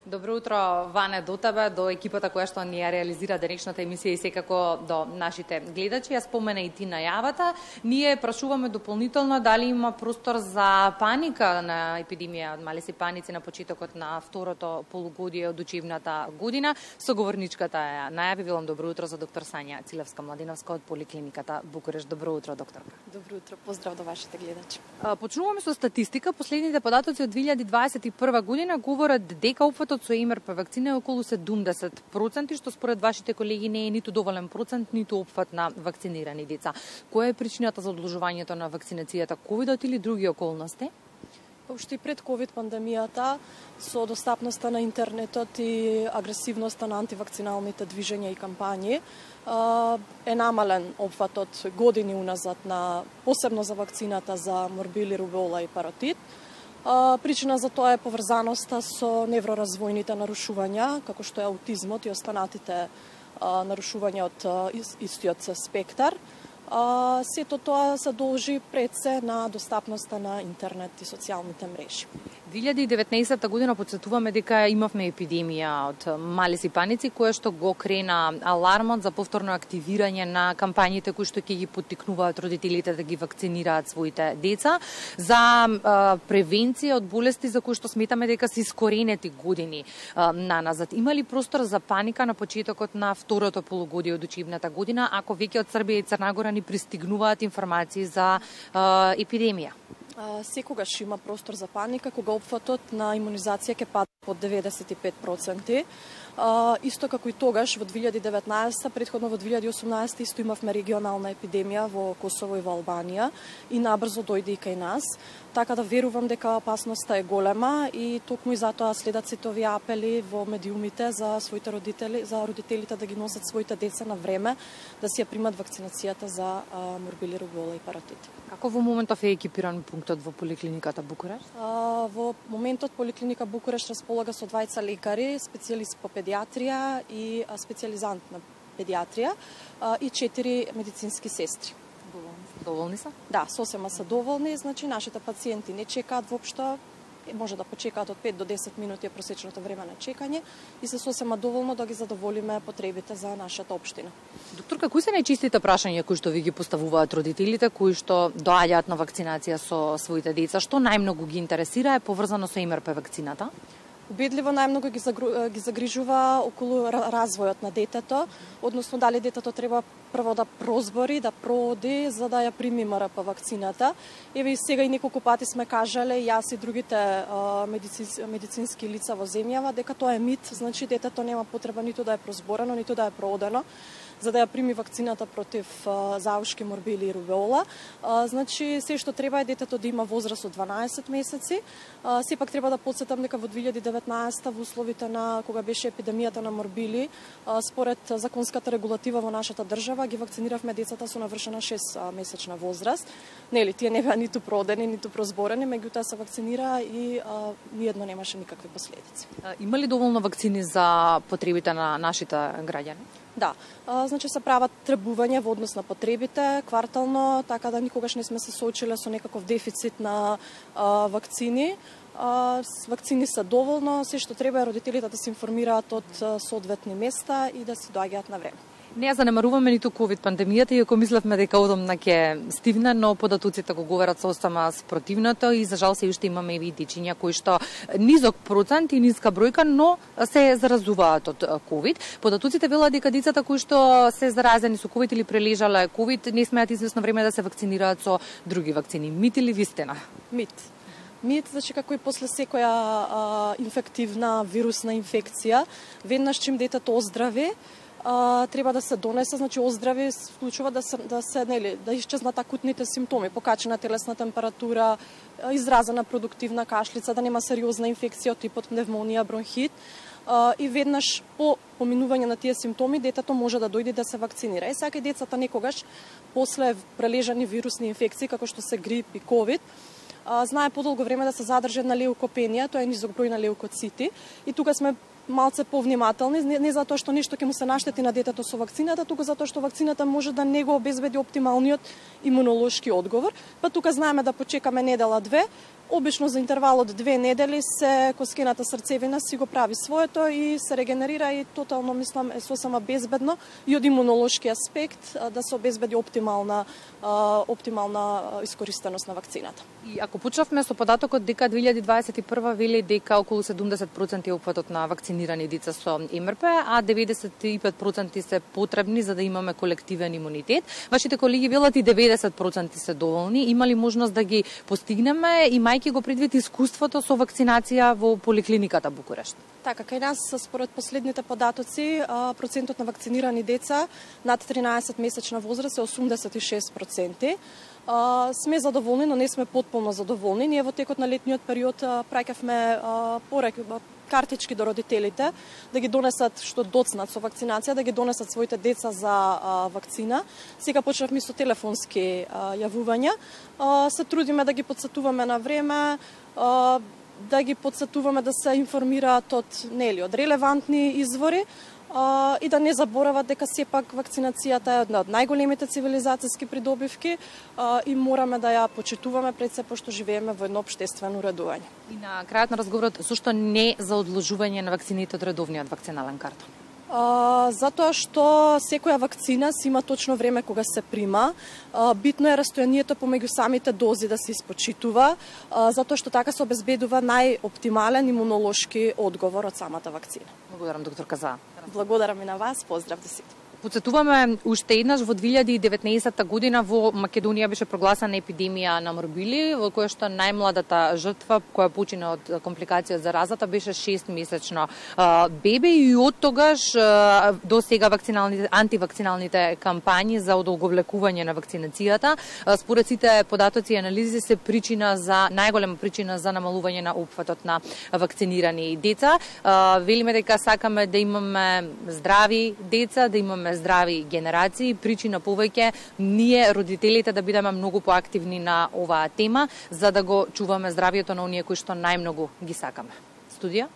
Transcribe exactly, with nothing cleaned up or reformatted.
Добро утро, Ване, до тебе, до екипата која што ни ја реализира денешната емисија и секако до нашите гледачи. Ја спомена и ти најавата. Ние прашуваме дополнително дали има простор за паника на епидемија од малиси паници на почетокот на второто полугодие од учебната година. Соговорничката ја најави. Велам добро утро за доктор Сања Цилевска-Младиновска од Поликлиниката Букурешт. Добро утро, докторка. Добро утро, поздрав до вашите гледачи. Почнуваме со статистика. Последните податоци од две илјади дваесет и прва година говорат дека опфатот со ем ар пе вакцина е околу седумдесет проценти, што според вашите колеги не е ниту доволен процент, ниту опфат на вакцинирани деца. Која е причината за одложувањето на вакцинацијата, ковидот или други околности? Уште и пред ковид пандемијата, со достапноста на интернетот и агресивноста на антивакциналните движења и кампањи, е намален опфатот години уназад на посебно за вакцината за морбили, рубеола и паротит. Причина за тоа е поврзаноста со невроразвојните нарушувања, како што е аутизмот и останатите нарушувања од истиот спектар. Сето тоа се должи пред се на достапноста на интернет и социјалните мрежи. две илјади и деветнаесетта година подсетуваме дека имавме епидемија од малиси паници, која што го крена алармот за повторно активирање на кампањите кои што ќе ги поттикнуваат родителите да ги вакцинираат своите деца за а, превенција од болести за кои што сметаме дека се искоренети години а, наназад. Има ли простор за паника на почетокот на второто полугодие од учебната година, ако веќе од Србија и Црна Гора ни пристигнуваат информации за а, епидемија? Секогаш има простор за паника кога опфатот на имунизација ќе падне под деветдесет и пет проценти. Исто како и тогаш во две илјади и деветнаесетта, предходно во две илјади и осумнаесетта исто имавме регионална епидемија во Косово и во Албанија и набрзо дојде и кај нас. Така да верувам дека опасноста е голема и токму и затоа следат сите овие апели во медиумите за своите родители, за родителите да ги носат своите деца на време да си ја примат вакцинацијата за морбили, рубеола и паротит. Како во моментов е екипиран пунктот во Поликлиниката Букурешт? Во моментот Поликлиника Букурешт располага со двајца лекари, специјалист по педиатрија и специјализант на педиатрија и четири медицински сестри. Доволни се? Да, сосема се доволни, значи нашите пациенти не чекаат воопшто, може да почекаат од пет до десет минути е просечното време на чекање и се сосема доволно да ги задоволиме потребите за нашата општина. Докторка, кои се најчистите прашања кои што ви ги поставуваат родителите, кои што доаѓаат на вакцинација со своите деца? Што најмногу ги интересира е поврзано со ем ар пе вакцината? Убедливо најмногу ги, загру... ги загрижува околу развојот на детето, односно дали детето треба прво да прозбори, да прооди за да ја прими ем ар пе вакцината. Еве и сега и неколку пати сме кажале, јас и другите а, медицински, медицински лица во земјава, дека тоа е мит, значи детето нема потреба ниту да е прозборено, ниту да е проодено за да ја прими вакцината против а, заушки, морбили и рубеола. А, значи, се што треба е детето да има возраст од дванаесет месеци. А, сепак треба да подсетам дека во две илјади и деветнаесетта во условите на кога беше епидемијата на морбили, а, според законската регулатива во нашата држава ги вакциниравме децата со навршена шест месечна возраст. Нели, тие не беа ниту проодени, ниту прозборени, меѓутоа се вакцинира и а, ниедно немаше никакви последици. А, има ли доволно вакцини за потребите на нашите граѓани? Да, а, значи се прават требувања во однос на потребите квартално, така да никогаш не сме се соочиле со некаков дефицит на а, вакцини. А, вакцини се доволно, се што треба е родителите да се информираат од соодветни места и да си доаѓаат на време. Не ја занемаруваме ниту ковид пандемијата, иако мислевме дека одамна ќе стигне, но податоците го говорат состама спротивното и за жал се уште имаме и дечиња кои што низок процент и ниска бројка, но се заразуваат од ковид. Податоците велат дека децата кои што се заразени со ковид или прележале ковид не смеат извесно време да се вакцинираат со други вакцини. Мит или вистина? Мит. Мит, значи како и после секоја а, инфективна вирусна инфекција, веднаш чим детето оздрави, А, треба да се донесе, значи оздрави вклучува да се да се нели да исчезнат акутните симптоми, покачена телесна температура, изразена продуктивна кашлица, да нема сериозна инфекција од типот пневмонија, бронхит. А, и веднаш по поминување на тие симптоми детето може да дојде да се вакцинира. Е сега децата некогаш после прележани вирусни инфекции како што се грип и ковид знае подолго време да се задржи една леукопенија, тоа е низок број на леукоцити и тука сме малце повнимателни, не, не затоа што нешто ќе му се наштети на детето со вакцината, туку затоа што вакцината може да не го обезбеди оптималниот имунолошки одговор. Па тука знаеме да почекаме недела две. Обично за интервал од две недели се коскената срцевина си го прави своето и се регенерира и тотално мислам е сосема безбедно и од имунолошки аспект да се обезбеди оптимална оптимална искористеност на вакцината. И ако почнавме со податокот дека две илјади дваесет и прва вели дека околу седумдесет проценти е опфатот на вакцинирани деца со Ем Р П, а деветдесет и пет проценти се потребни за да имаме колективен имунитет. Вашите колеги велат и деветдесет проценти се доволни. Има ли можност да ги постигнеме, имајќи го предвид искуството со вакцинација во поликлиниката Букурешт? Така, кај нас според последните податоци процентот на вакцинирани деца над тринаесет месечна возраст е осумдесет и шест проценти. Uh, сме задоволни, но не сме потполно задоволни. Ние во текот на летниот период uh, праќавме uh, пораки, картички до родителите да ги донесат што доцнат со вакцинација, да ги донесат своите деца за uh, вакцина. Сега почнавме со телефонски uh, јавувања. Uh, се трудиме да ги подсетуваме на време, uh, да ги подсетуваме да се информираат од нели од релевантни извори. Uh, и да не заборават дека сепак вакцинацијата е една од најголемите цивилизацијски придобивки uh, и мораме да ја почитуваме пред се, пошто живееме во едно општествено уредување. И на крајот на разговорот, зошто не за одложување на вакцините од редовниот вакцинален картон? Uh, затоа што секоја вакцина си има точно време кога се прима. Uh, битно е растојанието помеѓу самите дози да се испочитува, uh, затоа што така се обезбедува најоптимален имунолошки одговор од самата вакцина. Благодарам, доктор Каза. Благодарам и на вас, поздрав до сите. Подсетуваме уште еднаш во две илјади и деветнаесетта година во Македонија беше прогласена епидемија на морбили, во која што најмладата жртва која почина од компликација од заразата беше шестмесечно бебе и од тогаш до сега вакциналните антивакциналните кампањи за одолговлекување на вакцинацијата според сите податоци и анализи се причина за најголема причина за намалување на опфатот на вакцинирани деца. Велиме дека сакаме да имаме здрави деца, да имаме здрави генерации, причина повеќе ние родителите да бидеме многу поактивни на оваа тема за да го чуваме здравието на оние кои што најмногу ги сакаме. Студија